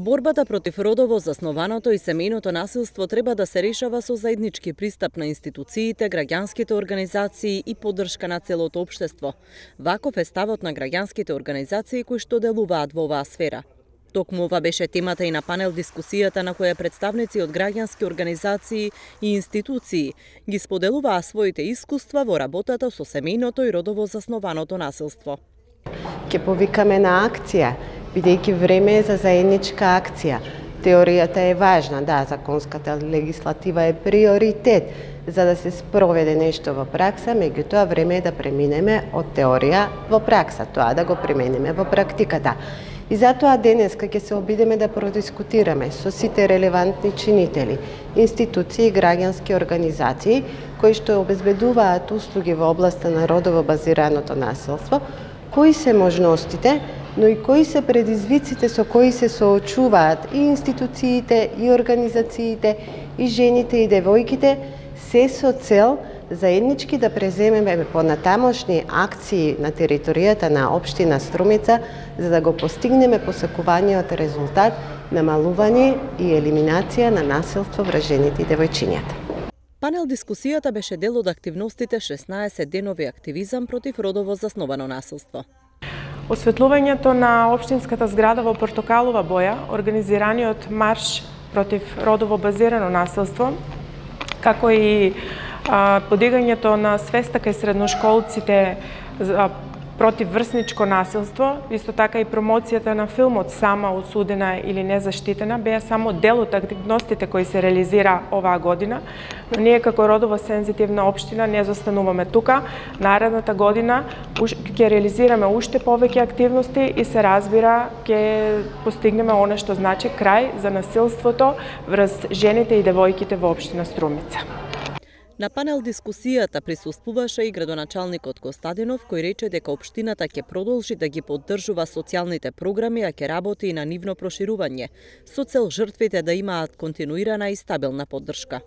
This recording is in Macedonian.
Борбата против родово заснованото и семејното насилство треба да се решава со заеднички пристап на институциите, граѓанските организации и поддршка на целото општество. Ваков е ставот на граѓанските организации кои што делуваат во оваа сфера. Токму ова беше темата и на панел дискусијата на која представници од граѓански организации и институции ги споделуваа своите искуства во работата со семејното и родово заснованото насилство. Ќе повикаме на акција, бидејќи време е за заедничка акција. Теоријата е важна, да, законската легислатива е приоритет за да се спроведе нешто во пракса, меѓутоа време е да преминеме од теорија во пракса, тоа да го примениме во практиката. И затоа денеска ќе се обидеме да продискутираме со сите релевантни чинители, институции и граѓански организации кои што обезбедуваат услуги во областа на родово базираното насилство, кои се можностите, но и кои се предизвиците со кои се соочуваат и институциите, и организациите, и жените и девојките, се со цел заеднички да преземеме понатамошни акции на територијата на општина Струмица, за да го постигнеме посакуваниот резултат намалување и елиминација на насилство врз жените и девојчињата. Панел дискусијата беше дел од активностите 16 денови активизам против родово засновано насилство. Осветлувањето на општинската зграда во портокалова боја, организираниот марш против родово базирано насилство, како и подигањето на свеста кај средношколците против врсничко насилство, исто така и промоцијата на филмот Сама осудена или незаштитена беа само дел од активностите кои се реализира оваа година, но ние како родово сензитивна општина не застануваме тука. Наредната година ќе реализираме уште повеќе активности и се разбира ќе постигнеме она што значи крај за насилството врз жените и девојките во општина Струмица. На панел дискусијата присуствуваше и градоначалникот Костадинов, кој рече дека општината ќе продолжи да ги поддржува социјалните програми, а ќе работи и на нивно проширување, со цел жртвите да имаат континуирана и стабилна поддршка.